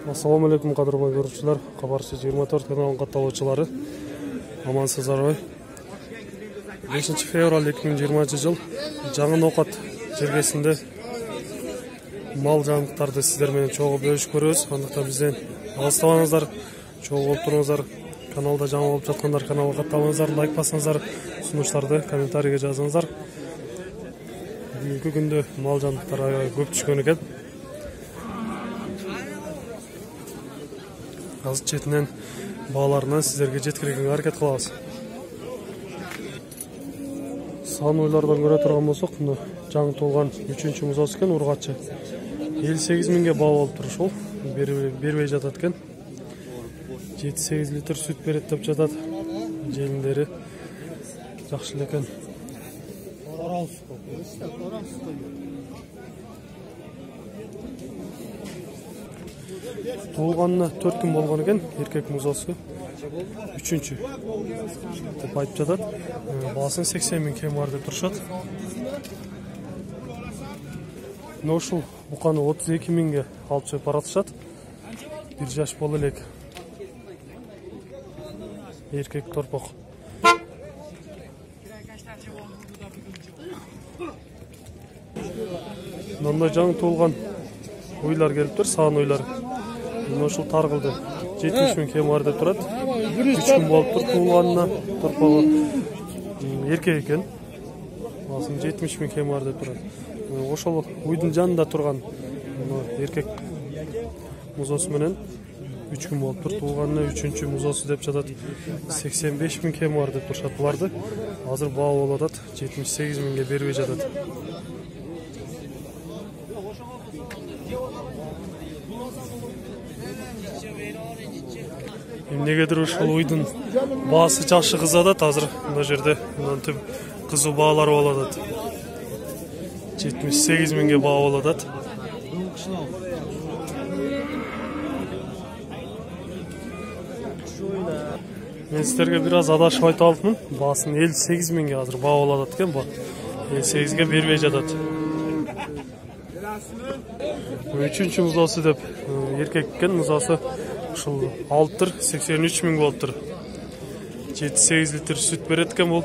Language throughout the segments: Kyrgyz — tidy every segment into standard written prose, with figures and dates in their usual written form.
Assalamu alaikum qadrli ko'ruvchilar. Xabarchi 24 kanalının qatnashchilari. Amansыздарбы? 5 fevral 2020 yıl Жаңы Ноқат жергесинде мал жаңылыктарды сиздер менен чогуу бөлүшүп көрөбүз. Андыктан бизден алыстабаңыздар, чогуу болуп туруңуздар. Каналда жаңы болуп жаткандар каналга катталыңыздар, лайк басыңыздар, сунуштарды комментарийге жазыңыздар. Бүгүнкү күндө мал жаңылыктар аябай көп түшкөн экен. Азыр четинен бааларынан сиздерге жеткирүүгө аракет кылабыз. Сан ойлардан көрө турган болсок, мына жаңы толган 3-чү музасы экен, ургачы. 58 миңге баа болуп туруш ол. Бербей жатат экен. 7-8 литр сүт берет деп жатат. Желиндери жакшы эле экен. Толганына 4 күн болгон экен, эркек музасы. 3-чү деп айтып жатат. Баасын 80 миң кем бар деп турушат. Ушул буканы 32 миңге алып чыгып баратышат. 1 жаш боло элек. Эркек торпок. Мындай жаңы толган ойлар келиптир, сан ойлар. Ушул таргылды 70 миң кем бар деп турат. 3 күн болуптур туулганына, торпогу эркек экен. Баасын 70 миң кем бар деп турат. Ошол уйдун жанында турган эркек музасы менен 3 күн болуптур туулганына 3-чү музасы деп жатат. 85 миң кем бар деп турушат буларды. Азыр баа болуп атат, 78 миңге бербей жатат. Эмнегедир ушул уйдун баасы жакшы кызатат азыр мына жерде. Мынтип кызуу баалар болуп атат. 78 миңге баа болуп атат. Мен сиздерге бир аз адашып айтып алыпмын. Баасын 58 миңге азыр баа болуп атат экен бу. 58ге бербей жатат. 3-чү музасы деп эркек экен, музасы ушул алыптыр, 83 миң болуптур. 7-8 литр сүт берет экен бул.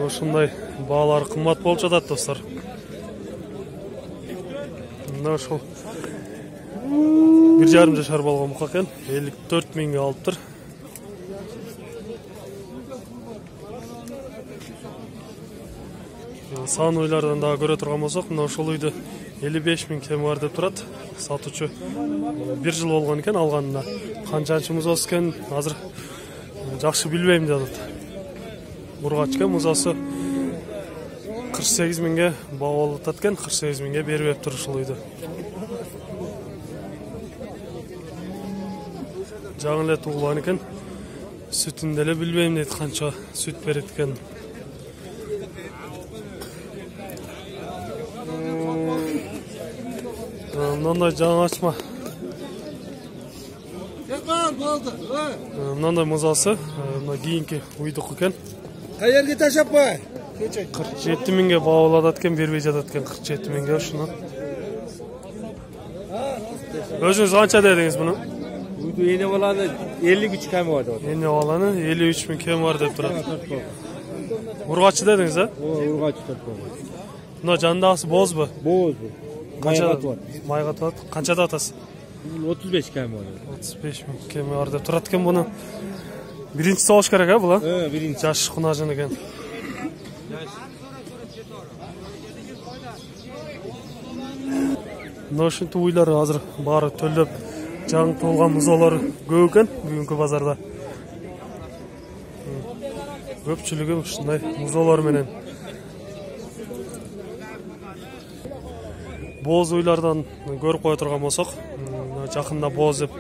Ушундай баалар кымбат болуп жатат достор. Мына ушул 1,5 жашар болгон бука экен, 54 миңге алыптыр. Сан ойлардан дагы көрө турган болсок, мына ушул үйдө 55 миң кем бар деп турат. Сатуучу 1 жыл болгон экен алганына. Канчанчы музасы экен азыр жакшы билбейм жатат. Ургач экен, музасы 48 миңге баа болуп атат экен, 48 миңге бербептир ушул үйдө. Жаңы эле туулган экен. Сүтүн деле билбейм дейт, канча сүт берет экен. Мындай жаңы ачма. Мындай музасы, мына кийинки уйдук экен. Каерге ташаппай. 47 миңге баа болуп атат экен, бербей жатат экен 47 миңге ушуну. Өзүңүз канча дедиңиз муну? Уйду эне баланы 53 кем бар деп. Эне баланы 53 миң кем бар деп турат. Ургачы дедиңиз, а? Ургачы торпок. Мына жандагысы бозбу? Бозбу. Майга атат. Канчада атасы? 35 кем бар. 35 миң кем бар деп турат экен буну. Биринчиси болуш керек, а була? Биринчи. Жаш кунажын экен. Мына ушинтип уйлар азыр баары төлөп жаңы толган музалар көп экен бүгүнкү базарда. Көпчүлүгү ушундай музалар менен. Боз уйлардан көрүп кое турган болсок, жакында боз деп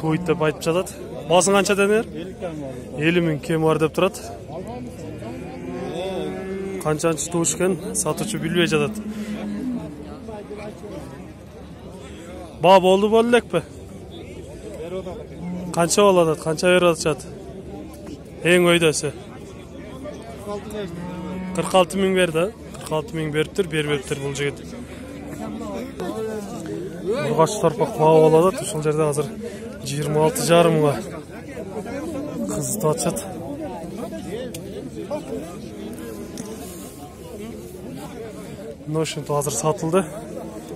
туйт деп айтып жатат. Баасын канча денер? 50 миң кем бар деп турат. Канчанчы тууш экен, сатуучу билбей жатат. Баа болду элекпи? Канча болуп атат? Канча берип атышат? Эң өйдөсү. 46 миң берди. 46 миң бериптир, бербептир бул жигит. Ургач торпак баап алат, ушул жерде азыр 26,5 миңга кызытып атышат. Ошентип азыр сатылды.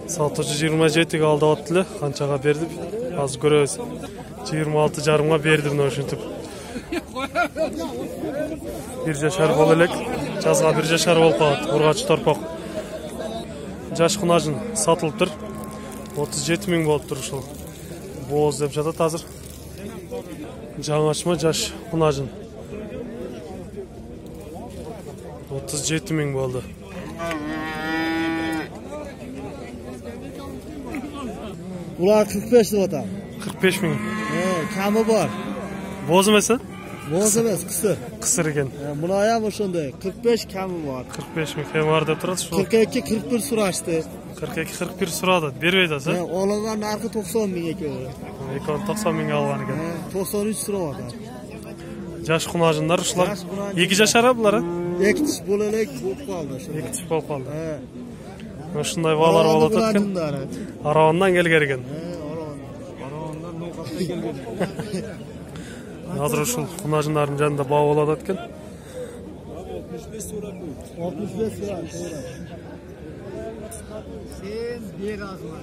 Сатуучу 27ге алдап атты эле, канчага берди? Азыр көрөбүз. 26,5 берди мына ошентип. 1 жашар боло элек, жазга 1 жашар болуп калат. Ургач торпак. Жаш кунажын сатылыптыр. 37 миң болуптур ушул. Бооз деп жатат азыр. Жаңачма жаш кунажын. 37 миң болду. Bular 45 деп атам. 45 миң. Камы бар. Бооз эмеси? Бооз эмес, кысыр. Кысыр экен. Мына ям ошондой 45 камы бар. 45 миң кем бар деп турат ушул. 42-41 сурашты. 42-41 сурады. Бербейт азы? Оларга наркы 90 миң экөө. Экөө 90 миңге алган экен. 93 сурап атат. Жаш кунажындар ушулар. 2 жашар булар? 2 тиш боло элек болуп калды ошо. 2 тиш болуп калды. Ушундай баалар болуп атат экен. Аравандан келген экен. Аравандан ноокаттан келген. Азыр ушул кунажындардын жанында баа болуп атат экен. 65 сурап. 65 сурап. Sen bir azma.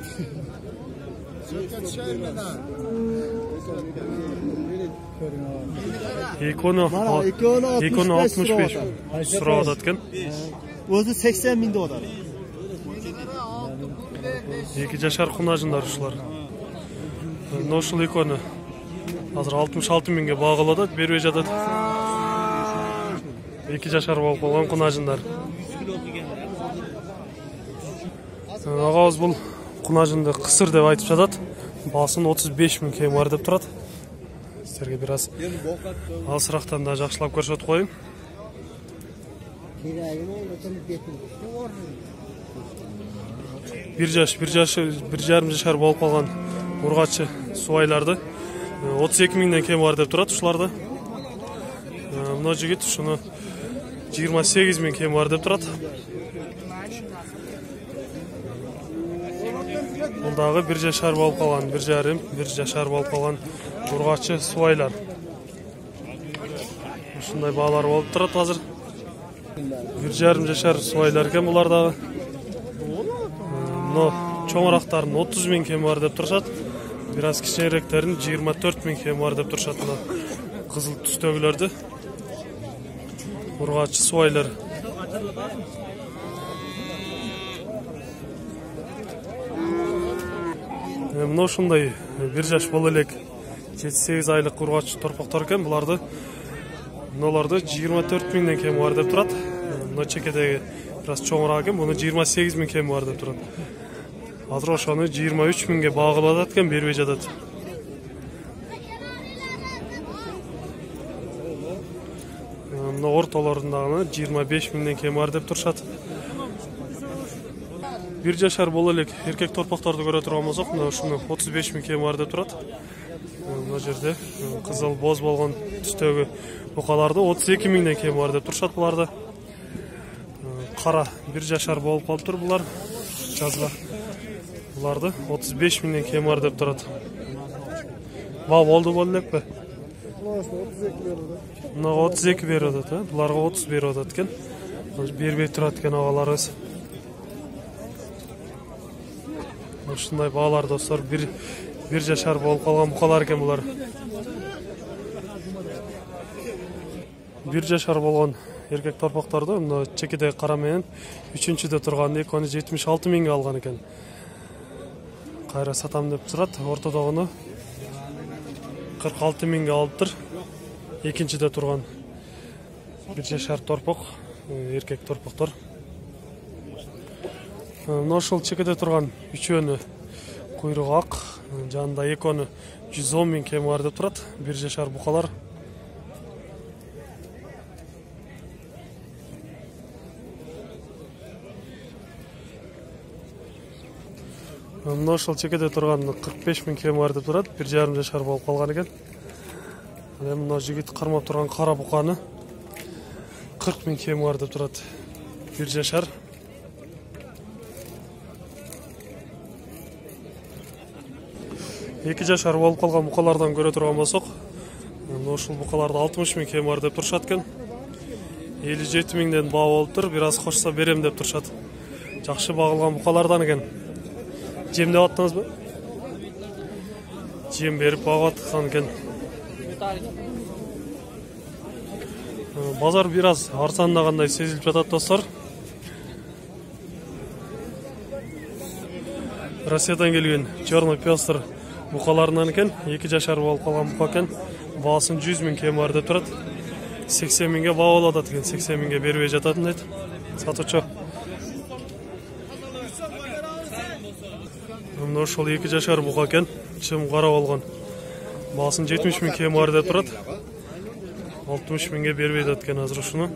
Ekonu 65 сурап атат экен. Өзү 80 миң деп атат. 2 жашар кунажындар ушулар. Ушул экөнү азыр 66 миңге багылып атат, бербей жатат. 2 жашар болуп калган кунажындар. Агабыз бул кунажынды кысыр деп айтып жатат. Баасын 35 миң кем бар деп турат. Силерге бир аз алысырактан да жакшылап көрсөтүп коеюн. Bir жарым жашар болуп калган ургачы субайларды 32 миңден кем бар деп турат ушуларда. Мына жигит ушуну 28 миң кем бар деп турат. Бул дагы 1 жашар болуп калган, 1 жашар болуп калган ургачы субайлар. Ушундай баалар болуп турат азыр. 1 жарым жашар субайлар экен булар дагы. Но чоңурактардын 30 миң кем бар деп турушат. Бир аз кичинеректердин 24 миң кем бар деп турушат. Мына кызыл түстөгүлөрдү. Ургачы субайлар. Мына ушундай 1 жаш боло элек 7-8 айлык ургачы торпактар экен. Буларды мыналарды 24 миңден кем бар деп турат. Мына чекедеги бир аз чоңураак экен. Буну 28 миң кем бар деп турат. Азыр ошону 23 миңге багылып атат экен, бербей жатат. Мына ортолорунда 25 миңден кем бар деп турушат. 1 жашар боло элек эркек торпактарды көрө турган болсок, мына ушуну 35 миң кем бар деп турат. Мына жерде кызыл боз болгон түстөгү букаларды 32 миңден кем бар деп турушат буларды. Кара 1 жашар болуп калыптыр булар. Жазга буларды 35 миңден кем бар деп турат. Ба болду боло элекпи? Мына 32 берип атат, буларга 30 берип атат экен. Бербей турат экен агаларыбыз. Ушундай баалар достор, 1 жашар болуп калган букалар экен булар. 1 жашар болгон эркек торпактарды мына чекедеги кара менен 3-чүдө турган экөөнү 76 миңге алган экен. Кайра сатам деп турат. Ортодогуну 46 миңге алыптыр. Экинчиде турган 1 жашар торпак, эркек торпактар. Мына ошол чекеде турган үчөөнү куйругу ак, жанында экөөнү 110 миң кем бар деп турат. 1 жашар букалар. Мына ошол чекеде турган 45 миң кем бар деп турат. 1 жарым жашар болуп калган экен. Мына жигит кармап турган кара буканы 40 миң кем бар деп турат. 1 жашар. 2 жашар болуп калган букалардан көрө турган болсок, ушул букаларды 60 миң кем бар деп турушат экен. 57 миңден баа болуптур, бир аз кошсо берем деп турушат. Жакшы багылган букалардан экен. Жем деп аттыңызбы? Жем берип багып аткан экен. Базар бир аз арзандагандай сезилип жатат достор. Россиядан келген черный пёстр букаларынан экен, 2 жашар болуп калган бука экен. Баасын 100 миң кем бар деп турат. 80 миңге баа болуп атат экен, 80 миңге бербей жататын дейт сатуучу. Мына ошол 2 жашар бука экен, чым кара болгон. Баасын 70 миң кем бар деп турат. 60 миңге бербей жатат экен азыр ушуну.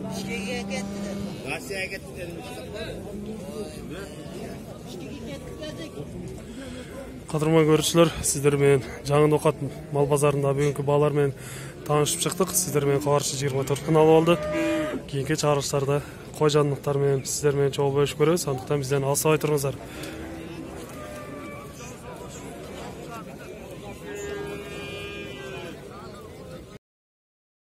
Кадырман көрүүчүлөр, сиздер менен Жаңы Ноокат мал базарында бүгүнкү баалар менен таанышып чыктык. Сиздер менен Кабарчы 24 каналы болду. Кийинки чыгарылыштарда кой жанлыктар менен сиздер менен чогуу бөлүшүп көрөбүз. Андыктан бизден алыстабай туруңуздар.